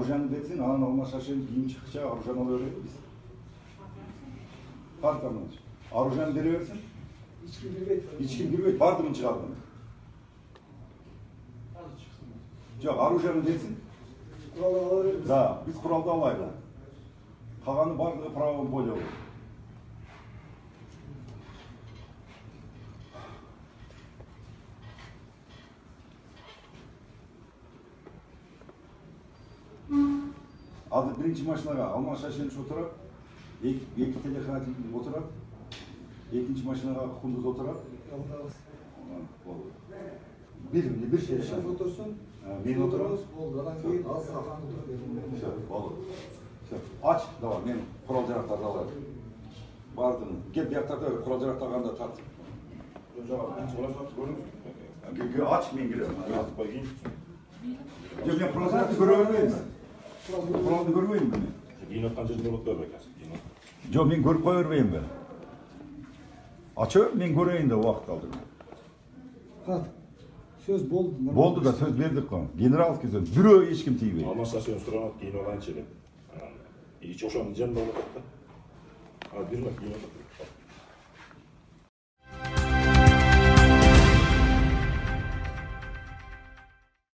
Аружан десин, анан алмашашын кийим чыкча Аружан ала берет биз. Картамын. Аружан бере берсин. Hiç kim girmeyip vardı mı çıkardın? Yok, Aruja'nın değilsin. Da, biz kuralda alaydı. Kalanı vardı, pravın boyu olur. Adı birinci maçına Almaşaşı'nın oturup, iki telefon oturup, ikinci maçına Kunduz oturup. Bir şey. Şef otursun. Ben otururuz. Oldu. Adam değil, az sahan oturup. Olur. Aç, da var. Ben kural jaraqtarda alayım. Bardın. Gel bir yaktarda kural jaraqtarganda tart. Aç, ben girelim. Ben kural jaraqtı görebilmeyim mi? Kuralını görmeyim mi? Giynattan жерде болот да бекасы. Жоқ, мен көріп қоя бермеймін бе. Açı, мен көрейін де уақыт алдым. Söz boldu. Boldu da söz verdik қой. Генералский сөз. Бирөө ешкім тийбейт. Алмашасын суранат, кийинип алайынчы деп. Ич ошонун жанында болот да. Бир кийинип